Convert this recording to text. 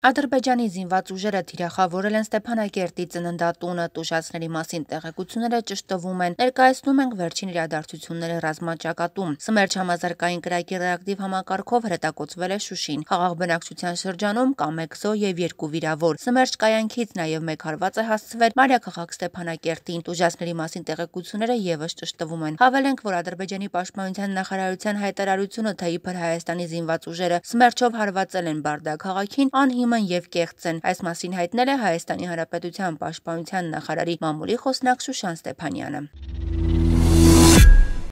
Ադրբեջանի զինված ուժերը թիրախավորել են Ստեփանակերտի ծննդատունը, տուժածների մասին տեղեկությունները ճշտվում են, ներկայացնում ենք վերջին իրադարձությունները ռազմաճակատում։ Սմերջ համազարգային կրակի ռեակտիվ համակարգով հրետակոծվել է Շուշին։ Խաղաղ բնակչության շրջանում կա 1 զոհ եւ 2 վիրավոր։ Սմերջ կայանքից նաեւ 1 հարված է հասցվել մայրաքաղաք Ստեփանակերտին։ Տուժածների մասին տեղեկությունները եւս ճշտվում են։ Հավելենք, որ Ադրբեջանի պաշտպանության նախարարության հայտարարությունը, թե իբր Հայաստանի զինված ուժերը Սմերջով հարվածել են Բարդա քաղաքին, անհիմն եւ կեղծ են։ Այս մասին հայտնել է Հայաստանի Հանրապետության պաշտպանության նախարարի մամուլի խոսնակ Շուշան Ստեփանյանը։